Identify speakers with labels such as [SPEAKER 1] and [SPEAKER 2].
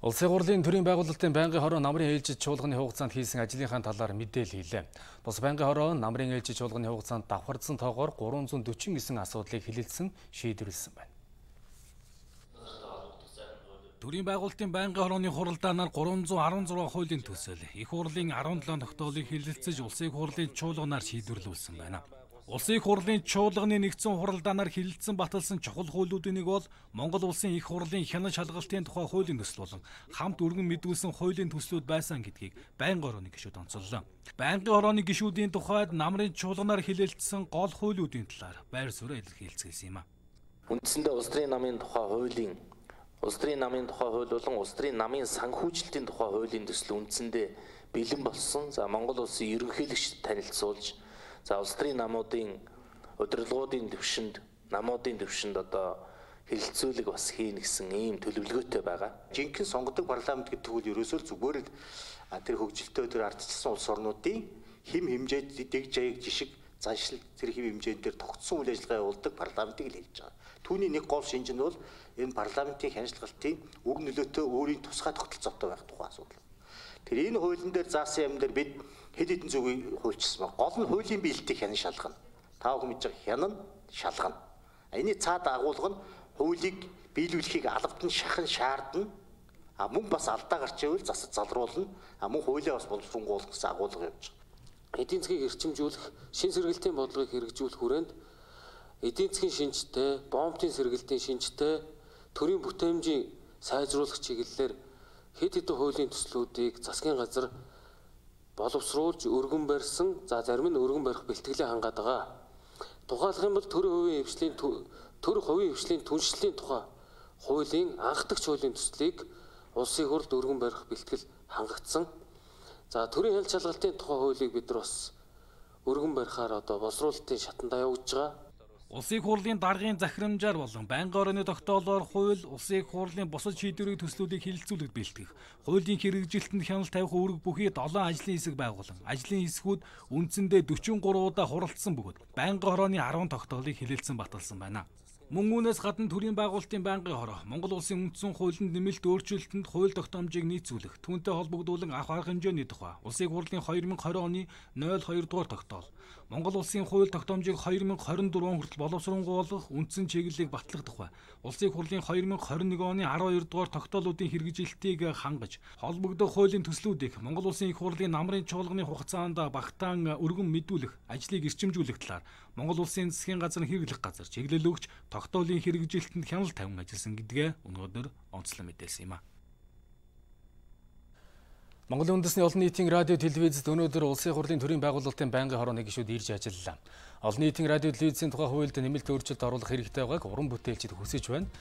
[SPEAKER 1] Улсын хурлын төрийн байгуулалтын байнгын хороо намрын ээлжид чуулганы хугацаанд хийсэн ажлынхаа талаар мэдээлэл хийлээ. Бус байнгын хороо намрын ээлжид чуулганы хугацаанд давхардсан тоогоор 349 асуудлыг хэлэлцсэн шийдвэрлсэн байна. Төрийн байгуулалтын байнгын хорооны хуралдаанаар 316 хуулийн төсөл, их хурлын 17 тогтоолыг хэлэлцэж улсын хурлын чуулганаар шийдвэрлүүлсэн байна. Улсын хурлын чуулганы нэгдсэн хуралдаанаар хэлэлцсэн баталсан чухал хуулиудын нэг бол Монгол улсын их хурлын хянан шалгалтын тухай хуулийн төсөл болон хамт өргөн мэдүүлсэн хуулийн төслүүд байсан гэдгийг байнгын хорооны гишүүд онцоллоо. Байнгын хорооны гишүүдийн тухайд намрын чуулганаар хэлэлцсэн гол хуулиудын талаар байр суурь илэрхийлсэн юм а.
[SPEAKER 2] Үндсэндээ улс төрийн намын тухай хуулийн улс төрийн намын тухай хууль болон улс төрийн намын санхүүжилтийн тухай хуулийн төсөл үндсэндээ бэлэн болсон. За Монгол улсын ерөнхийлөгчд танилцуулж улс төрийн намуудын удирдлагуудын төвшөнд одоо хэлэлцүүлэг бас хийн гэсэн ийм төлөвлөгөөтэй байгаа.
[SPEAKER 3] Жинхэнэ сонгодог парламент гэдэг нь ерөөсөө зүгээр л тэр хөгжилтэй тэр ардчилсан улс орнуудын хэм хэмжээд дэг жаяг жишг заншил тэр хэм хэмжээнд дээр тогтсон үйл ажиллагаа явуулдаг парламентыг л хэлж байгаа. Түүний нэг гол шинж нь бол энэ парламентын хяналтын өг нөлөөтэй өөрийн тусгай тогтолцоотой байх тухай асуудал. Тэр энэ хуулийн дээр заасан юм дээр бид хэд хэдэн зүгийг хуульчсан ба гол нь хуулийн биелэлтийг хянан шалгана. Та бүхэн мэдж байгаа хянан шалгана. Энэний цаад агуулга нь хуулийг биелүүлэхийг албад нь шахан шаардна. Мөн бас алдаа гарч ивэл засаж залруулна. Мөн хуулиа бас боловсронгуулах гэсэн агуулга явж байгаа.
[SPEAKER 2] Эдийн засгийг эрчимжүүлэх, шин сэргэлтийн бодлогыг хэрэгжүүлэх хүрээнд эдийн засгийн шинжтэй, бомбын сэргэлтийн шинжтэй, төрийн бүтээмжийн сайжруулах чиглэлээр хэд хэдэн хуулийн төслүүдийг засгийн газар боловсруулж өргөн барьсан, зарим нь өргөн барих бэлтгэлээ хангаад байгаа. Тухайлх юм бол төр хувийн хвшлийн түншлэлийн тухай хуулийн анхдагч хуулийн төслийг улсын хурлд өргөн барих бэлтгэл хангагдсан. Төрийн хяналт шалгалтын тухай хуулийг бид нар бас өргөн барихаар боловсруулалтын шатандаа явуулж байгаа.
[SPEAKER 1] Улсын хурлын даргын захирамжаар болон байнгын хорооны тогтоолоор хууль, улсын хурлын бусад шийдвэрийн төслүүдийг хэлэлцүүлэх бэлтгэх, хуулийн хэрэгжилтэнд хяналт тавих үүрэг бүхий 7 ажлын хэсэг байгуулан, ажлын хэсгүүд үндсэндээ 43 удаа хуралдсан бөгөөд байнгын хорооны 10 тогтоолыг хэлэлцэн баталсан байна. Мөн үүнээс гадна төрийн байгуулалтын байнгын хороо Монгол улсын үндсэн хуулинд нэмэлт өөрчлөлтөнд хууль тогтоомжийг нийцүүлэх, түүнтэй холбогдуулан авах арга хэмжээний тухай улсын хурлын 2020 оны 02 дугаар тогтоол, Монгол улсын хууль тогтоомжийг 2024 он хүртэл боловсронгуулах, үндсэн чиглэлийг батлах тухай улсын хурлын 2021 оны 12 дугаар тогтоолуудын хэрэгжилтийг хангаж, холбогдох хуулийн төслүүдийг Монгол улсын их хурлын намрын чуулганы хугацаанд багтаан өргөн мэдүүлэх, ажлыг эрчимжүүлэх талаар Монгол улсын засгийн газрын хэрэглэх газар чиглэл өгч тогтоолын хэрэгжилтэнд хяналт тавин ажилласан гэдгээ өнөөдөр онцлон мэдээлсэн юм а. Монголын үндэсний олон нийтийн радио телевизэд өнөөдөр улсын хурлын төрийн байгуулалтын байнгын хорооны гишүүд ирж ажиллалаа. Олон нийтийн радио телевизийн тухай хуульд нэмэлт өөрчлөлт оруулах хэрэгтэй байгааг уран бүтээлчид хүсэж байна.